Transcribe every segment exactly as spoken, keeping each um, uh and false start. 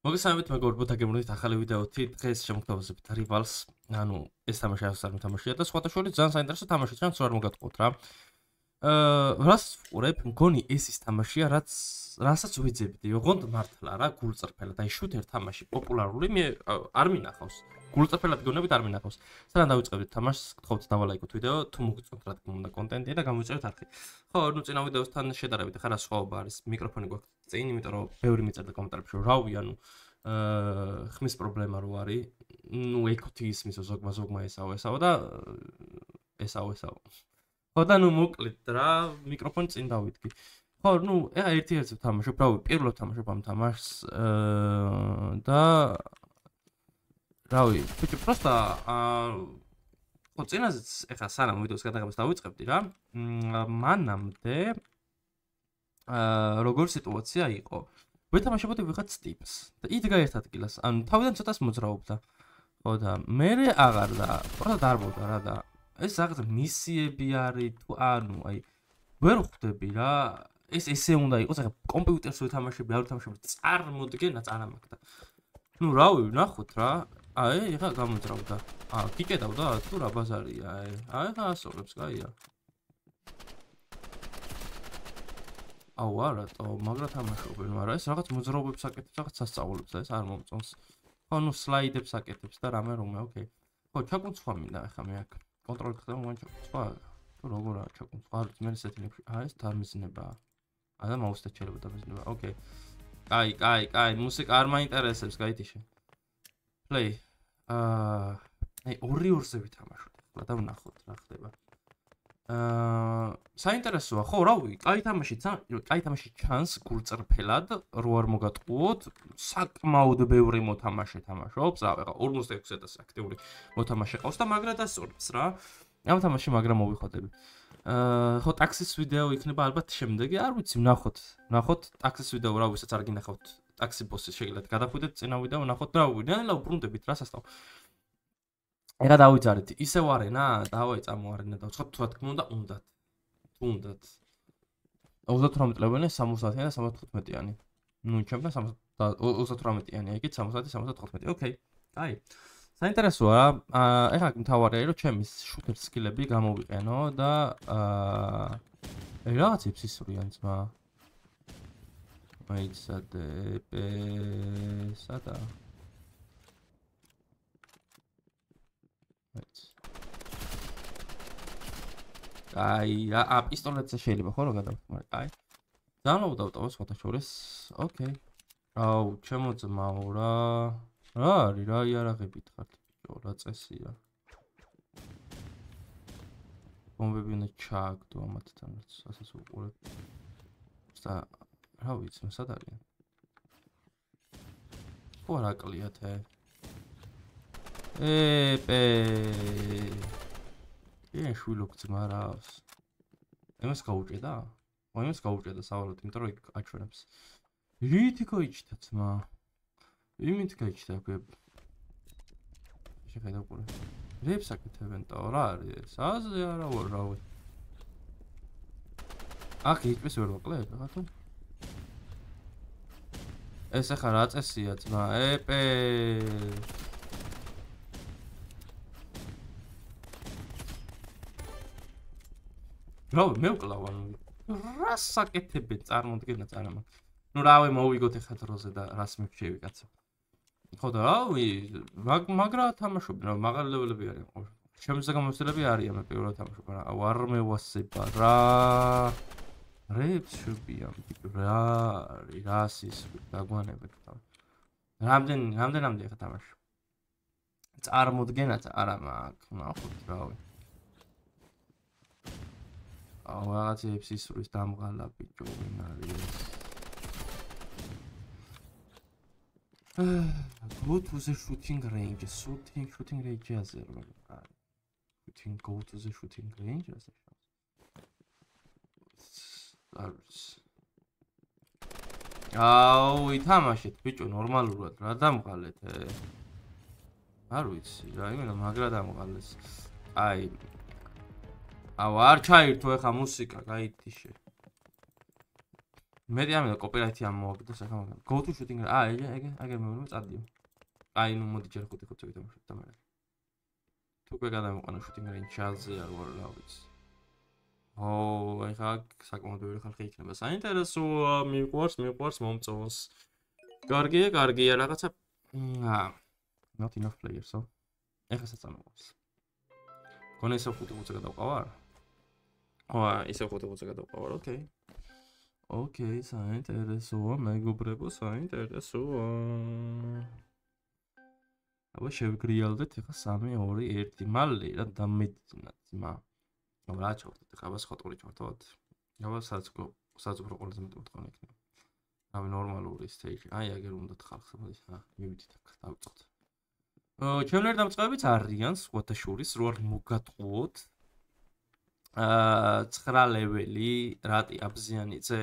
მოგესალმებით, მე გორბოთა გემრით ახალი ვიდეოთი. დღეს შემოგთავაზებთ Rivals. ანუ ეს თამაში ასარ თამაშია და სხვათა შორის ძალიან საინტერესო თამაში ჩანს, რა არ მოგატყუოთ რა. აა, რას ვყურებ? მგონი ეს ის თამაშია, რაც რასაც ვიძებდი. ოღონდ მართლა რა, გულწრფელად. აი შუთერ თამაში პოპულარული მე არ მინახავს. გულწრფელად გონებით არ მინახავს. სანამ დავიწყებთ თამაშს, გთხოვთ დავალაიქოთ ვიდეო, თუ მოგწონთ რა თქმა უნდა კონტენტი და გამოიწერეთ არხი. ხო, ნუ წინა ვიდეოსთან შედარებით ახლა რა სხვაობა არის? მიკროფონი გვაქვს წინ, იმიტომ რომ ბევრი მიწერდა კომენტარებში, რომ რავი, ანუ აა ხმის პრობლემა რო არის. ნუ ეკუთი ისმის ზოგმა ზოგმა ესაო ესაო და ესაო ესაო. ხო და ნუ მოკლედ რა, მიკროფონი წინ დავიდგი. ხო, ნუ ეხა ერთი-ერთი ვთამაშობ, რავი, პირველად ვთამაშობ ამ თამაშს აა და რავი, ბიჭო, პროსტა აა ხო, წინაზეც ეხა სანამ ვიდეოს გადაღებას დავიწყებდი რა, მანამდე აა როგორ სიტუაცია იყო? ვეთამაშებოდი ვიღაც ტიპს და იდგა ერთ ადგილას, ანუ თავიდან ცოტას მოძრაობდა. ხო და მერე აღარ და პროსტა დარბოდა რა და ეს რაღაც მისიები არის თუ ანუ აი ვერ ხვდები რა, ეს ესე უნდა იყოს, ახლა კომპიუტერს ვეთამაშები, არ ვეთამაშები, წარმოდგენა წანა მაქვს და ნუ რავი, ვნახოთ რა. აი, ეხა გამოძრავდა. აა, გიკეტავდა თუ რა ბაზარია, აი. აი, ხა ასწორებს, კაია. აუ, არატო, მაგრა თამაშობენ, მაგრამ ეს რაღაც მოძრაობებს აკეთებს, რაღაც სასწაულებს და ეს არ მომწონს. ხო, ნუ სლაიდებს აკეთებს და რამე რომე, ოკეი. ხო, ჩაკუნცვა მინდა ახლა მე აქ. კონტროლი ხდება, მაგრამ ჩაკუნცვა. თუ როგორაა ჩაკუნცვა? არ ვიცი, მე სეტინგებში. აა, ეს დამიზნებაა. აა, და მაუსთან შეიძლება დამიზნება. ოკეი. კაი, კაი, კაი, მუსიკა არ მაინტერესებს, გაითიშე. Play. აა, აი ორი ორზე ვითამაშოთ ახლა და ვნახოთ რა ხდება. აა, საინტერესოა, ხო, რავი, კაი თამაში, კაი თამაში ჩანს გულწრფელად, რო არ მოგატყუოთ, საკმაოდ ბევრი მოთამაშე თამაშობს, რა, ეხლა ორმოცდაექვსი ათასი აქტიური მოთამაშე ყავს და მაგრა დასწორებს რა. ამ თამაში მაგრა მოვიხოდები. აა, ხო, ტაქსის ვიდეო იქნება ალბათ შემდეგი, არ ვიცი, ვნახოთ. ვნახოთ ტაქსის ვიდეო, რა, ვისაც არ გინახავთ. ტაქსი ბოსი შეგიძლიათ გადახვიდეთ წინა ვიდეო, ნახოთ რა ვიდეო, უბრუნდებით რა სასწავლო. ეხა დავიძარეთ, ისევარენა, დავაი წამოარენა და ვცხოთ თუ რა თქმა უნდა, უნდათ. თუ უნდათ. ოცდათვრამეტი ლეველი, სამოცდაათიანი და სამოცდათხუთმეტიანი. ნუ ჩემთან ოცდათვრამეტიანი, ეგეც სამოცდაათი, სამოცდათხუთმეტი. ოკეი. აი. საინტერესოა რა. აა, ეხა მთავარია, რომ ჩემი შუთერ სკილები გამოვიყენო და აა აი რაღაცებს ისვრიან ძმა. აი სადა პე სადა აი ა პისტოლეტზე შეიძლება ხო რა გადავხო მაგრამ აი ძალიან დავტოვო სხვათა შორის ოკეი აუ ჩემო ძმაო რა რა არის რა იარაღებით ხართ ბიჭო რა წესია ბომბები უნდა ჩააგდო ამათთანაც ასაც უყურებ და რა ვიცი, სად არიან? ხო არ აკლიათ ე. ე-პე. ე შვილო გძმარავს. ემას გაუჭედა? ო ემას გაუჭედა სავალოდ, იმიტომ რომ იქ აჩვენებს. რითი გაიჩნდა ძმა? იმით გაიჩნდა გვე. შეხედა უყურე. რებს აკეთებენ და რა არის ეს? აზე არა ვარ რავი. აქ იტყვის ვერ ვაკლებ, ხა თუ? ეს ახლა რა წესია ძმა? ე-პე. რავი, მე ვკლავ ანუ რა საკეთებენ წარმოდგენა წანა მაქვს. ნუ რავი, მოვიგოთ ახლა დროზე და რას მივშევი კაცო. ხო და რავი, მაგრა თამაშობენ, რა მაღალი ლეველები არიან ყოველ. ჩემზე გამოცდილები არიან, მე პირველად თამაშობ, რა არ მევასება რა. რებს შუბიან რა რას ის დაგვანებთ და რამდენ რამდენამდე ხა თამაში წარმოდგენაც არა მაქვს ნახოთ რავი აუ რაღაცებს ისურის დამღალა ბიჭო ვინ არის go to the shooting range shooting shooting range აზე რა shooting go to the shooting range აზე არის. აუ, ითამაშეთ, ბიჭო, ნორმალურად, რა დამღალეთ, ე? არ ვიცი, რა, იმენა მაგრა დამღალეს. აი. აუ, არ ჩაირთო ეხა მუსიკა, გაითიშე. მეტი ამიტომ კოპირაითი ამ მოვაგდეს ახლა მაგრამ go to shooting აა ეგე ეგე ეგე მე წადიო აი ნუ მოდი ჯერ ხუთი ხუთი ვიტამშოთ და მე თუ უკვე გადამოყანა shooting range ჩალზე არ ვარ რა ვიცი ო აი ხა საკმაოდ ბევრი ხალხი იქნება საინტერესოა მიყვარს მიყვარს მომწონს კარგია კარგია რაღაცა აა not enough players so ეხა საწამოყავს კონე ისე ხუთი ხუთი გადავყავარ ო ისე ხუთი ხუთი გადავყავარ ოკეი ოკეი საინტერესოა მეგობრებო საინტერესოა აბა შევგრიალდეთ ეხა სამი ორი ერთი მალე რა დამეძინათ ძმა აბა რა ჩავხდეთ ეხა აბა ხოტური ჩავხდოთ აბა საწკო საწკო ყველაზე მეტი მოთხოვნა იქნება აბა ნორმალური stage აი აგერ უნდა ხალხს მოდი ხა მივიდით აქ დავიწყოთ ჩემნერ დამწყებებიც არიან სხვათა შორის რო არ მოგატყუოთ აა ცხრა ლეველი რატი აბზიანი წე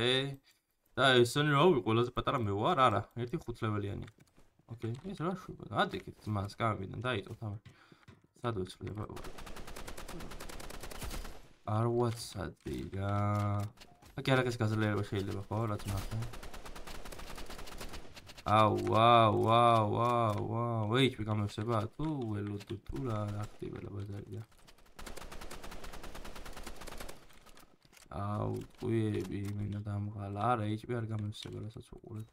და ესენი რა ვი ყველაზე პატარა მე ვარ არა ერთი ხუთ ლეველიანი ოკეი ეს რა შვება ადეკით მას გამიდან დაიწყოთ ამ სად ვეცვლება არ ვაცადი რა აკი არაკეს გაზრდილება შეიძლება ხო რაც მართლა აუ ვაუ ვაუ ვაუ ვაუ ეიჩპი გამოსება თუ ველოდო თუ რა რა ხდება ბაზარია აუ ყუიები იმენა დამღალა არა ეიჩპი არ გამოსება რასაც უყურებ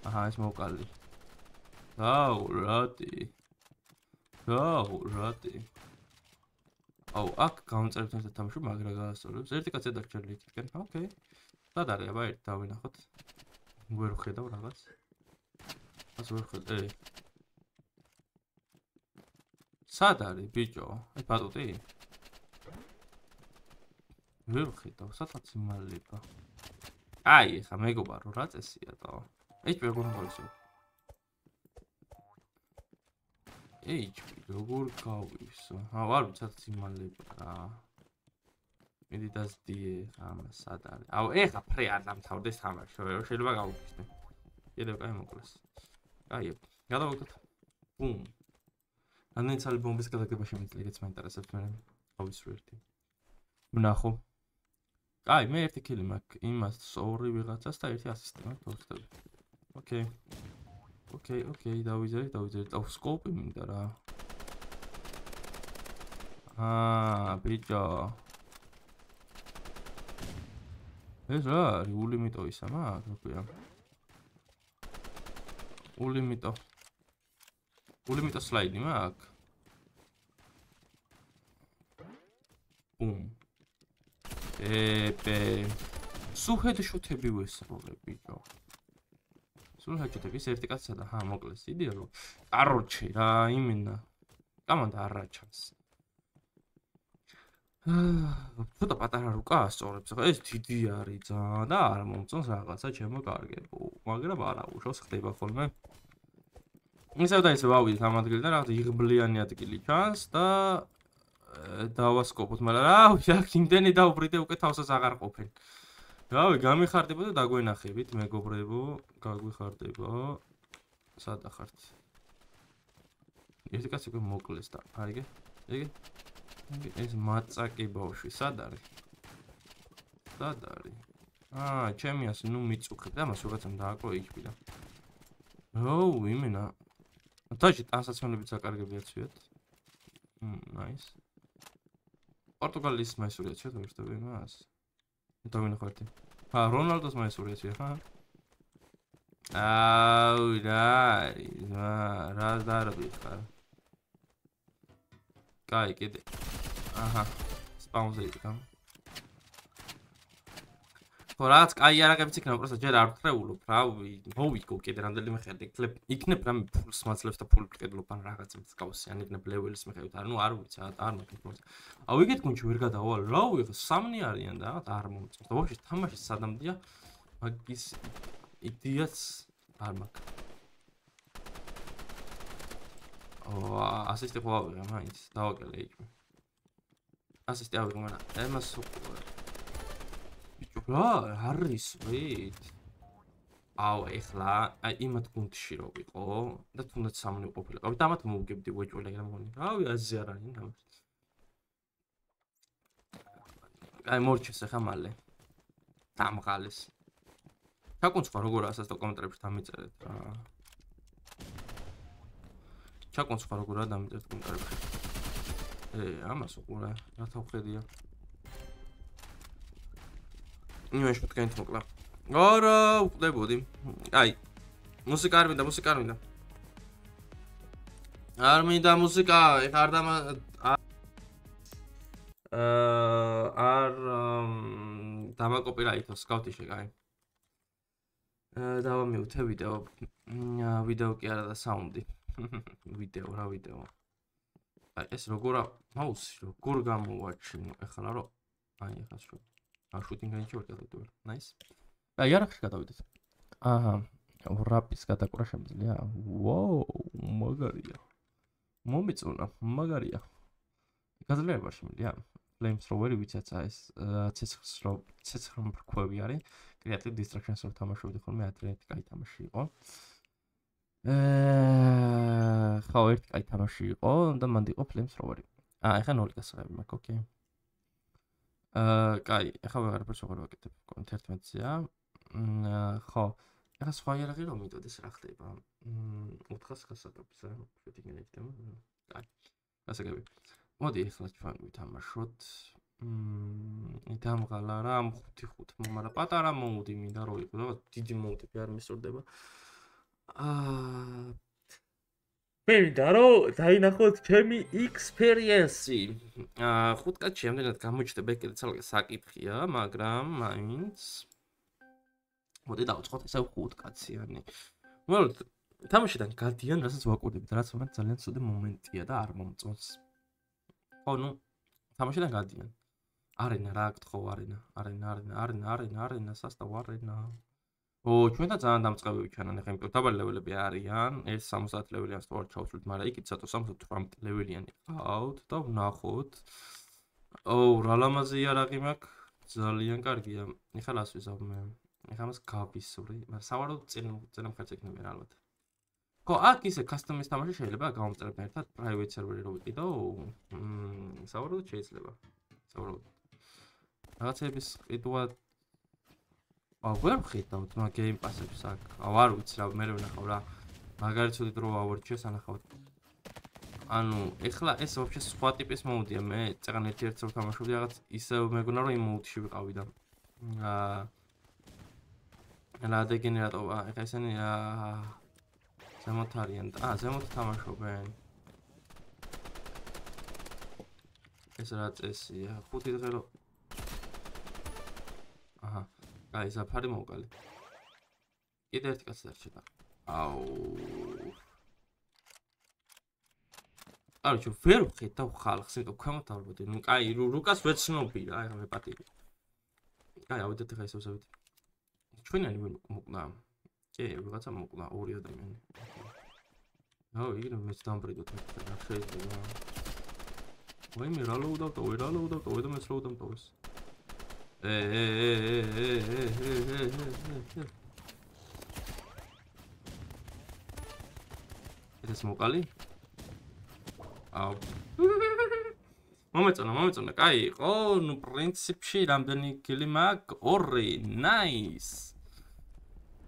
აჰა ეს მოვყალი აუ რატი აუ რატი აუ აქ გამწერებთ ერთ თამაში მაგრა გაასწორებს ერთი კაცი დაგჭერილი იქიდან ოკეი სად არის აბა ერთ დავინახოთ ვერ ხედავ რაღაც ას ვერ ხედე სად არის ბიჭო ეს ბატუტი ვერ ხედავ სადღაც იმალება აი ეხა მეგობარო რა წესია და ეჩ როგორ გავისო ეჩ როგორ გავისო აა არ ვიცი სადღაც იმალება რა მიდი დასდიე ხამა სად არის აუ ეხა ფრე არ დამთავრდეს თამაში შეიძლება გავუქცნე კიდევ კაი მოკლეს კაი გადავაგდოთ ბუმ ამდენი ცალი ბომბის გადაგება შემიძლია რაც მაინტერესებს მე ავისრო ერთი ვნახო კაი მე ერთი კილი მაქვს იმას ორი ვიღაცას და ერთი ასისტი მაქვს ოთხი ოკეი ოკეი ოკეი დავიზერე დავიზერე და სკოპი მინდა რა აა ბიჭო ეს რა არის ულიმიტო ისა მაგ როქვია ულიმიტო ულიმიტო სლაიდი მაგ ბუმ ებე სუჰედ შუთები ვესროლებ ბიჭო სუჰედ შუთები ეს ერთი კაცსა და ჰა მოკლეს იდეა რომ კაროჩე რა იმენა კამანდა არ რაჩანს აა ცოტა პატარა რუკა ასწორებს ხა ეს დიდი არის ძალიან და არ მომწონს რაღაცა ჩემო კარგებო მაგრამ არა უშავს ხდება ხოლმე ისევ და ისევ ავიდეთ ამ ადგილიდან რაღაცა იღბლიანი ადგილი ჩანს და დავასკოპოთ მაგრამ რა ვიცი აქ იმდენი დაუბრიდე უკვე თავსაც აღარ ყოფენ რავი გამიხარდება და დაგვენახებით მეგობრებო გაგვიხარდება სად ახართ ერთი კაცი უკვე მოკლეს და აიგე ეგე ეს მაწაკი ბავშვი სად არის? სად არის? აა, ჩემი ასე ნუ მიწუხებ და მას რაღაცამ დააკო ეიჩპი და. ოუ, იმენა. თაჯი ტანსაცმელები საკარგები აცვიათ. მმ, ნაის. პორტუგალიის მაისური აცვიათ ვერტები მას. დავინახო ერთი. აა, რონალდოს მაისური აცვია, ხა? აუ, რა არის? რა დარბი ხარ? კაი, კიდე. აჰა, სპაუნზე იქნა. ხო, რაღაც კაი არაკებიც იქნება, просто ჯერ არ ვთრეულობ, რავი, მოვიგო კიდე რამდენიმე ხელი, იქნებ, იქნებ რამე ფულს მაძლევს და ფული ვყიდლობ ან რაღაც მსგავსი, ან იქნებ ლეველის მიხედვით, არა, ნუ არ ვიცი, არ მაქვს. აუ, იგეთ გუნჩი ვერ გადავალ, რავი, ხო, სამნი არიან და რაღაც არ მომწონს. და ვაფშე თამაში სადამდია, მაგის იდეაც არ მაქვს. ო, ასისტი ხო ავიღე მაინც, დავაკელე იქ. ასისტი ავიღე, მაგრამ ემას ბიჭო, რა არის ვით? აუ, ეხლა აი იმათ გუნდში რო ვიყო და თუნდაც სამნი ყოფილიყავით, ამათ მოვგებდი ვეჭველი რა მგონი. რავი, აზი არ არის თამაში. აი მორჩეს ახლა მალე. დამღალის. ჩაკუნცვა როგორ ასას და კომენტარებში დამიწერეთ რა. ჩაკუნცვა როგორ დამიწერეთ კომენტარებში. ე, ამას უყურე, რა თავხედია. იმაში თქვენით მოკლა. არა, უყდებოდი. აი, მუსიკა არ მინდა, მუსიკა არ მინდა. არ მინდა მუსიკა, ეხა არ დამა არ დამაკოპირაითო სკავტიში, კაი. დავამიუთე ვიდეო. ვიდეო კი არა და საუნდი. ვიდეო, რა ვიდეო. აი, ეს როგორ მაუსი, როგორ გამოვაჩინო, ეხლა რა. აი, ეხლა შო. აა, შუტინგში ვარ გადავიდე. ნაის. აი, არახში გადავიდეთ. აჰა, რაპის გადაკვრა შემიძლია. ვოუ, მაგარია. მომიწონა, მაგარია. გაძლიერება შემიძლია. Flamethrower-ი ვიცაც ეს ცეცხლ ცეცხლ მრქვევი არის. Creative Destruction-ს რო თამაშობდი ხოლმე ათრიათი კაი თამაში იყო. აა, ხო, ერთი კაი თამაში იყო და მანდ იყო Flamethrower-ი. აა, ეხლა ნული გასაღები მაქვს, ოკეი. აა, კაი, ეხლა ვეღარაფერს ვეღარ ვაკეთებ. თერთმეტია. აა, ხო. ეხლა სხვა იარაღი რომ მიდოდეს რა ხდება? მ ოთხას გასაკეთებს, რა. შეტინგენი იქნება. კაი. გასაგები. მოდი ეხლა ჩვენ ვითამაშოთ. მ დამღალა რა ხუთი ხუთი, მაგრამ პატარა მოუდი მინდა რო იყო, რაღაც დიდი მოუდები არ მისურდება. აა მინდა რომ დაინახოთ ჩემი experience-ი. აა ხუთ კაცი ამდენად გამოჩნდება კიდე ცალკე საკითხია, მაგრამ მაინც მოდი დავწყოთ ესე ხუთ კაციანი. მოკლედ თამაშიდან გადიან, რასაც ვაკვირდებით, რაც მაგ ძალიან ცუდი მომენტია და არ მომწონს. ხო, ნუ თამაშიდან გადიან. არენა რა გთხოვ არენა, არენა, არენა, არენა, არენა, არენა, სასტავ არენა. ო, ჩვენთან ძალიან დამწყები ვიჩანან, ეხლა იმიტომ დაბალი ლეველები არიან, ეს სამოცდაათი ლეველიანს თუ არ ჩავშვლით, მაგრამ იქით სათო სამოცდათვრამეტი ლეველიანი ყავთ და ვნახოთ. ო, რა ლამაზი იარაღი მაქვს, ძალიან კარგია. ეხლა რას ვიზავ მე? ეხლა მას გავისური, მაგრამ სავარაუდოდ წინ წინ მხარს ეკნებიან ალბათ. ხო, აქ ისე custom-ის თამაში შეიძლება გამომწერებთან ერთად private server-ი რო ვიყიდო, მ სავარაუდოდ შეიძლება. სავარაუდოდ. რაღაცების ყიდვა აა ვერ ვხედავთ მაგ Game Pass-ებს აქ. აუ არ ვიცი რა, მე ვნახავ რა. მაგარი ცუდი დრო ავარჩიე სანახავთ. ანუ, ეხლა ეს ვაფშე სხვა ტიპის მოუდია, მე წეგან ერთ-ერთ რო თამაშობდი რაღაც ისე მეგონა რომ იმ მოუდში ვიყავი და აა რა დეგენერატორა, ეხლა ესენი აა ზემოთ არიან და აა ზემოთ თამაშობენ. ეს რა წესია? ხუთი დღე რო აჰა, აი ზაფარი მოვყალი. კიდე ერთი კაცი დარჩება. აუ. არჩო ვერ ვხედავ ხალხს, იმიტომ ქვემოთ ავლებოდი. ნუ კაი, რუკას ვეცნობი რა, ეხლა მე პატივი. კაი, ავიდეთ ეხლა ისევ ზავით. ჩვენანი ვერ მოკლა. კი, ვიღაცა მოკლა ორი ადამიანი. აუ, იგივე მეც დამბრიდოთ რა შეიძლება. ვაიმე რა ლოუდავ და რა ლოუდავ და და მეც ლოუდავ და ეს. ე ე ე ე ე ე ე ე. ეს მოკალი? აუ. მომეწონა, მომეწონა. კაი იყო, ნუ პრინციპში რამდენი კილი მაქვს? ორი. ნაის.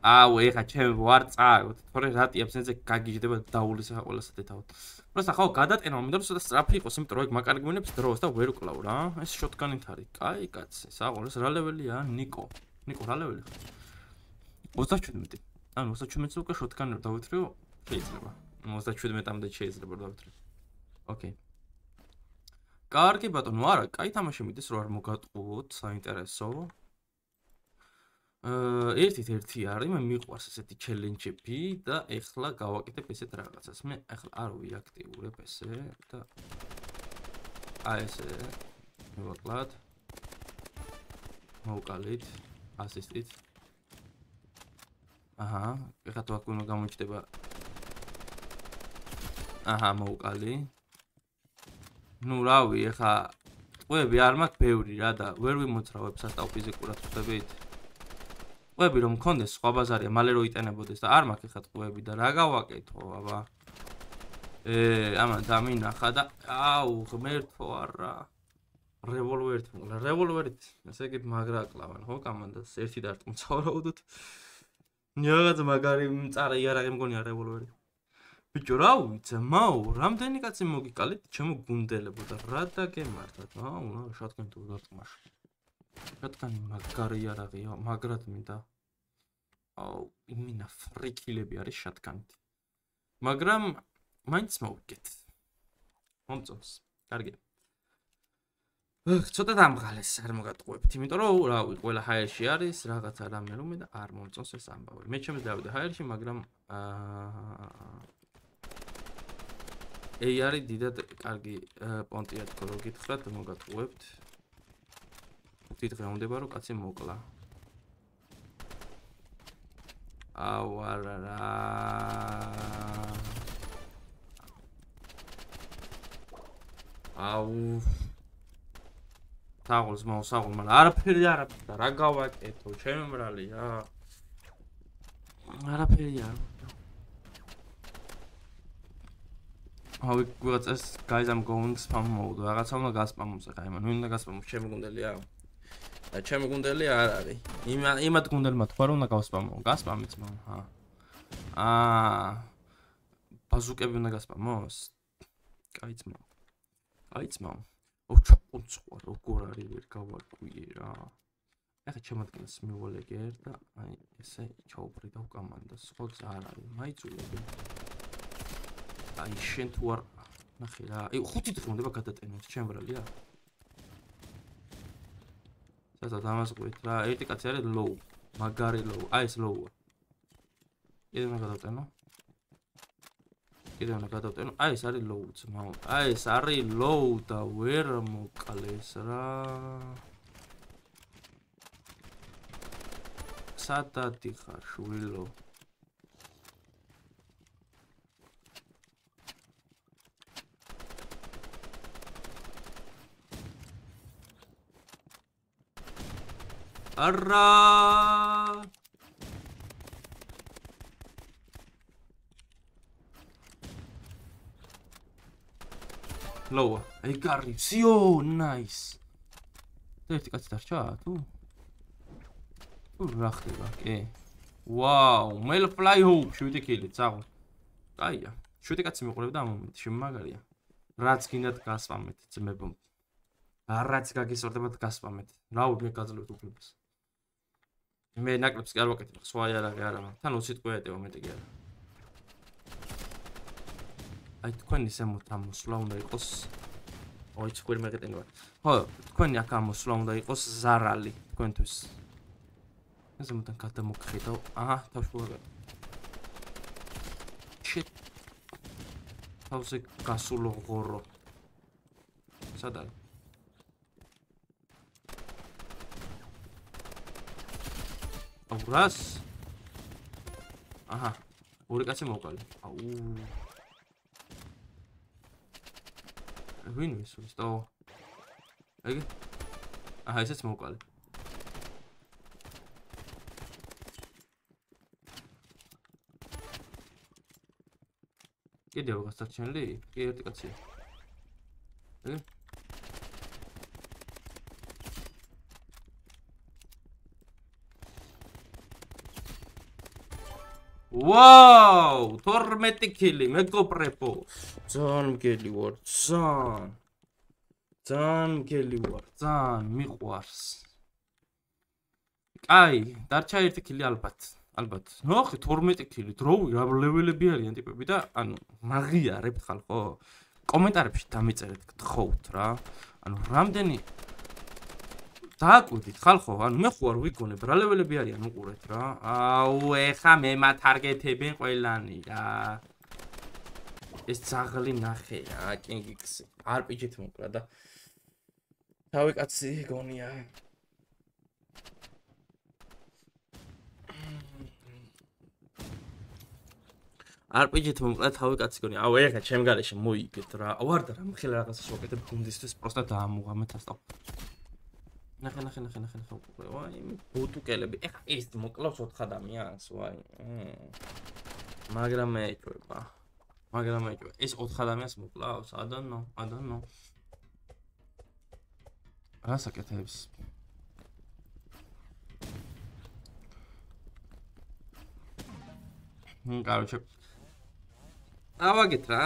აუ, ეხა ჩემ ვარ წააგოთ. თორე რატიებს ეზე გაგიჟდება დაულის ახლა ყველასა დეთავოთ. პროსტა ხო გადატენა, მინდა რომ ცოტა სწრაფი იყოს, იმიტომ რომ ეგ მაკარი გვინებს დროს და ვერ ვკლავ რა. ეს შოტგანით არის. კაი, კაცი, საყოველს რა ლეველია? ნიკო. ნიკო რა ლეველი ხარ? ოცდაჩვიდმეტი. ანუ ოცდაჩვიდმეტზე უკვე შოტგანი რო დავითრიო, შეიძლება. ოცდაჩვიდმეტამდე შეიძლება დავითრიო. ოკეი. კარგი ბატონო, არა, კაი თამაში მიდის რო არ მოგატყუოთ, საინტერესო. აა ერთით ერთი არის, მე მიყვარს ესეთი ჩელენჯები და ეხლა გავაკეთებ ესეთ რაღაცას. მე ეხლა არ ვიაქტიურებ ესე და აი ესე მოვაკლათ. მოვკალით ასისტით. აჰა, ეხლა თუ აქ უნდა გამოჩნდება. აჰა, მოვკალი. ნუ რავი, ეხლა ტყვეები არ მაქვს ბევრი რა და ვერ ვიმოცრავებ სასტავ ფიზიკურად ხვდებით. ტყვეები რომ მქონდეს სხვა ბაზარია, მალე რო იტენებოდეს და არ მაქვს ეხლა ტყვეები და რა გავაკეთო, აბა. ე, ამან დამინახა და აუ, ღმერთო არა. Revolver-ით მოკლა. Revolver-ით, ესე იგი მაგრა აკლავენ, ხო, კომანდას ერთი დარტყმცა ვარაუდოთ. ნიაღაც მაგარი მწარე იარაღი მგონია Revolver-ი. ბიჭო, რა ვიცი, მაო, რამდენი კაცი მოგიკალით, ჩემო გუნდელებო და რა დაგემართათ, აუ, რა შატკანი თუ დარტყმაში. შატკანი მაგარი იარაღია, მაგრად მინდა. აუ, იმინა ფრიქილები არის შატკანით. მაგრამ მაინც მოვიგეთ. მომწონს. კარგი. ცოტა დამღალეს არ მოგატყუებთ, იმიტომ რომ რავი, ყველა ჰაერში არის, რაღაცა რამე რომე და არ მომწონს ეს ამბავი. მე ჩემს დავიდე ჰაერში, მაგრამ აა ეი არის დიდად კარგი პონტია თქო რო გითხრათ, მოგატყუებთ. თვით დღე უნდა რომ კაცი მოკლა. აუ არა რა. აუ თაღულს მოსაღულ, მაგრამ არაფერი არაფერი და რა გავაკეთო, ჩემი მრალია. არაფერი არ. აუ ვიღაცას guys I'm going spam mode. რაღაცა უნდა გასპამოს ახლა, იმან ვინ უნდა გასპამოს, ჩემი გუნდელია. და ჩემი გუნდელი არ არის. იმ იმათ გუნდელმა თქვა რომ უნდა გავსპამო. გასპამიც მომ, ჰა. აა ბაზუკები უნდა გასპამოს. კაიც მომ. კაიც მომ. ოჩაკუნცყვა როგორ არის ვერ გავარკვიე რა. ახლა ჩემადგენს მივალეგერ და აი ესე ჩაუბრიდავ კომანდას. ხო გზა არ არის, მაიწულები. აი შენ თუ არ ნახე რა. აი ხუთი დღე უნდა გადატენოს ჩემბრალია. სადა დამასყვით რა, ერთი კაცი არის low, მაგარი low, აი ეს low-ა. კიდე უნდა გადავტენო. კიდე უნდა გადავტენო. აი ეს არის low ძმაო. აი ეს არის low და ვერ მოკლეს რა. სადადი ხარ შვილო. არა ლოვა აი გარი სიო ნაის და ერთი კაცი დარჩა თუ თუ რა ხდება კი ვაუ მელ ფლაი ჰოუ შვიდი კილი წაღო კაია შვიდი კაცი მიყურებდა ამ მომენტში მაგარია რაც გინდათ გასპამეთ ძმებო რაც გაგისორდებათ გასპამეთ რა მე გაძლევთ უფლებას მე ნაკლებს კი არ ვაკეთებ სხვა იარაღი არა მაგრამ თან ოცი ტყვე ეტევა მეტი კი არა აი თქვენი ზემოთ ამ მოსვლა უნდა იყოს ოი ცხვირი მეგეტენი ვარ ხო თქვენი აქ ამ მოსვლა უნდა იყოს ზარალი თქვენთვის ზემოდან გადამოგხედავ აჰა თავშუა შიტ თავზე გასულო ღორო სად არის აურას აჰა ორი კაცი მოვყალი აუ ვინ ვისურს და ეგ აჰა ესეც მოვყალი კიდევ რაღაც დარჩენილი კი ერთი კაცი ეგ ვაუ თორმეტი კილი მეგობრებო ძალიან მგელი ვარ ძალიან ძალიან მგელი ვარ ძალიან მიყვარს კაი დარჩა ერთი კილი ალბათ ალბათ ნახე თორმეტი კილი დროი რა ლეველები არიან ტიპები და ანუ მაგიარებთ ხალხო კომენტარებში დამეწერეთ გთხოვთ რა ანუ რამდენი დააკვირდით ხალხო ანუ მე ხო არ ვიგონებ რა ლეველები არიან უყურეთ რა აუ ეხა მე მათარგეთებენ ყველანი რა ეს ძაღლი ნახე რა კინგიქსი არ პიჯით მოკლა და თავი კაცი გონია არ პიჯით მოკლა თავი კაცი გონია აუ ეხა ჩემ გარეშე მოიგეთ რა აუ არ და რა მხელა რაღაცას ვაკეთებ გუნდისთვის პროსტა დაამუღამეთ ასტავ ნახე ნახე ნახე ნახე ნახე ვაი ბუტუკელები ეხა ეს მოკლავს ოთხ ადამიანს ვაი მაგრამ მეჭვება მაგრამ მეჭვება ეს ოთხ ადამიანს მოკლავს I don't know I don't know რას აკეთებს? მ კაროჩე. ავაგეთ რა.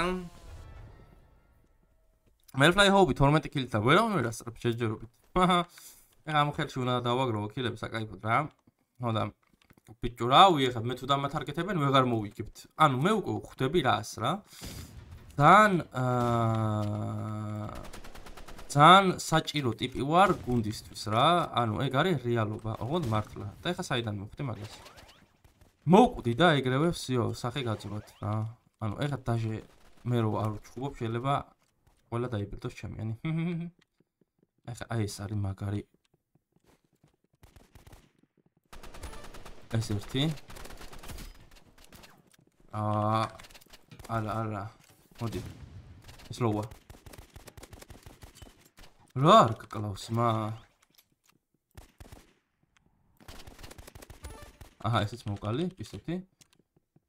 მელფლაი ჰობი თორმეტი კილით და ვერავინ ვერ ასწრებს შეჯერობით. ეხლა ამ ხელში უნდა დავაგროვო კილები საკაიფოდ რა. ხოდა ბიჭო რა ვიღებ მე თუ დამათარგეთებენ ვეღარ მოვიგებთ. ანუ მე უკვე ვხვდები რას რა. ძალიან აა ძალიან საჭირო ტიპი ვარ გუნდისთვის რა. ანუ ეგ არის რეალობა, ოღონდ მართლა. და ეხლა საიდან მოვხდი მაგას? მოვკვდი და ეგრევე ვსიო, სახე გაძვრათ რა. ანუ ეხლა დაჟე მე რო არ ვჩხუბობ შეიძლება ყველა დაიბერდოს ჩემიანი. ეხლა აი ეს არის მაგარი. ეს ერთი. აა არა არა. მოდი. ეს ლოვა. რა არ გკლავს მა? აჰა, ესეც მოვყალი, პისტოლი.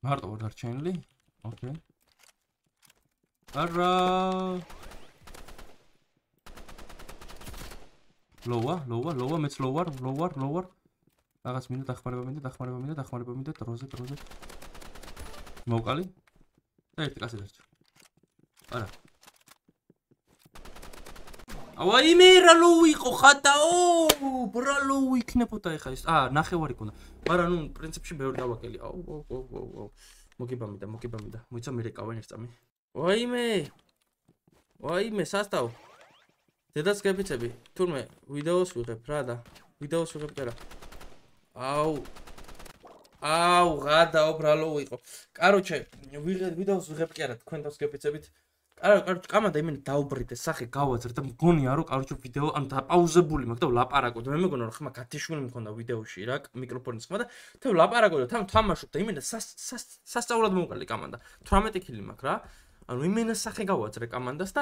მარტო ვარ დარჩენილი. ოკეი. არა. ლოვა, ლოვა, ლოვა, მეც ლოვარ, ლოვარ, ლოვარ. რაღაც მინდა დახმარება მინდა, დახმარება მინდა, დახმარება მინდა, დროზე, დროზე. მოვყალი. და ერთი კაცი დარჩა. არა. ავაიმე რა ლოუ იყო ხატაო, ბრა ლოუ იქნებოდა ეხა ეს. აა, ნახევარი ქონდა. მაგრამ ნუ პრინციპში ბევრი დავაკელი. აუ, აუ, აუ, აუ. მოგიბამიდა, მოგიბამიდა. მოიცა მე რეკავენ ერთამი. ვაიმე. ვაიმე, სასტავ. დედას გეფიცები. თურმე ვიდეოს ვიღებ რა და. ვიდეოს ვიღებ და რა. აუ. აუ, გადაო ბრა ლოუ იყო. კაროჩე, ვიღებ ვიდეოს ვიღებ კი არა, თქვენ დას გეფიცებით. არა, კაროჩე, კამადა იმენ დაუბრიდე, სახე გავაძრე და მგონია რომ კაროჩე ვიდეო ან დაპაუზებული მაქვს და ვლაპარაკო და მე მეგონა რომ ხმა გათიშვილი მქონდა ვიდეოში რა, მიკროფონის ხმა და და ვლაპარაკო და თან თამაშობ და იმენა სასწაულად მოვყალი კამანდა. თვრამეტი კილი მაქვს რა. ანუ იმენა სახე გავაძრე კამანდას და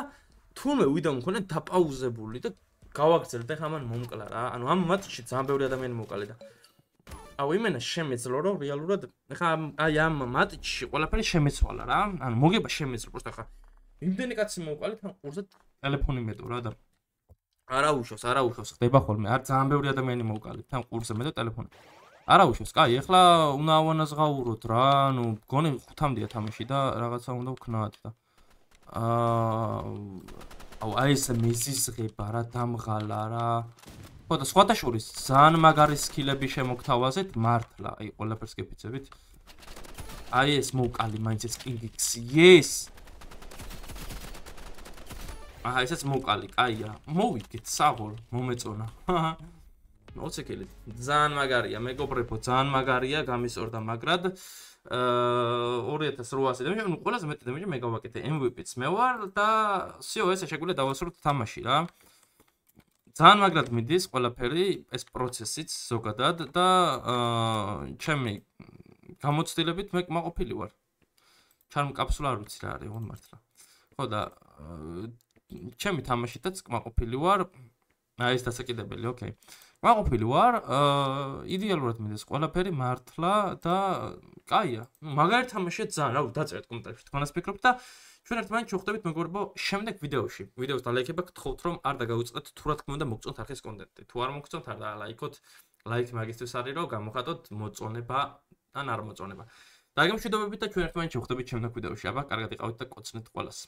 თუნდაც ვიდეო მქონდა დაპაუზებული და გავაგრძელე და ხა მან მომკლა რა. ანუ ამ მატჩში ძალიან ბევრი ადამიანი მოვყალი და აუ იმენა შემეძლო რომ რეალურად ხა აი ამ მატჩში ყველაფერი შემეცვალა რა. ანუ მოგება შემეძლო პროსტა ხა იმდენი კაცი მოვყალი თან ყურზე ტელეფონი მეტო რა და არა უშავს, არა უშავს, ხდება ხოლმე. არ ძალიან ბევრი ადამიანი მოვყალი თან ყურზე მე და ტელეფონი. არა უშავს. კაი, ეხლა უნდა ავანაზღაუროთ რა. ანუ გონი ხუთამდეა თამაში და რაღაცა უნდა ვქნათ და აა აუ აი ეს მეზიზღება რა დამღალა რა. ხო და სხვათა შორის ძალიან მაგარი სკილები შემოგთავაზეთ მართლა. აი ყველაფერს გეფიცებით. აი ეს მოვყალი მაინც ეს კინგიქს. yes. აჰა, ესეც მოვყალი, კაია. მოვიგეთ, საღოლ, მომეწონა. ოცი კილი. ძალიან მაგარია, მეგობრებო, ძალიან მაგარია, გამისწორდა მაგრად. აა ორი ათას რვაასი და მე ყველაზე მეტი დემეჯი მე გავაკეთე ემ ვი პიც მე ვარ და სიო ესე შეგვიძლია დავასრულოთ თამაში რა. ძალიან მაგრად მიდის ყველაფერი ეს პროცესიც ზოგადად და აა ჩემი გამოცდილებით მე კმაყოფილი ვარ. ჩარმ კაფსულა არ ვიცი რა არის, ოღონდ მართლა. ხო და ჩემი თამაშითაც კმაყოფილი ვარ. აი ეს დასაკიდებელი, ოკეი. კმაყოფილი ვარ, აა იდეალურად მიდის ყველაფერი მართლა და კაია. ნუ მაგარი თამაშია ძალიან, რა ვიცი, დაწერეთ კომენტარებში თქვენას ფიქრობთ და ჩვენ ერთმანეთს შევხვდებით მეგობრებო შემდეგ ვიდეოში. ვიდეოს დალაიქება გთხოვთ რომ არ დაგაუწყდეთ თუ რა თქმა უნდა მოგწონთ არხის კონტენტი. თუ არ მოგწონთ არ დალაიქოთ. ლაიქი მაგისთვის არის რომ გამოხატოთ მოწონება ან არ მოწონება. დაგემშვიდობებით და ჩვენ ერთმანეთს შევხვდებით შემდეგ ვიდეოში. აბა, კარგად იყავით და კოცნეთ ყველას.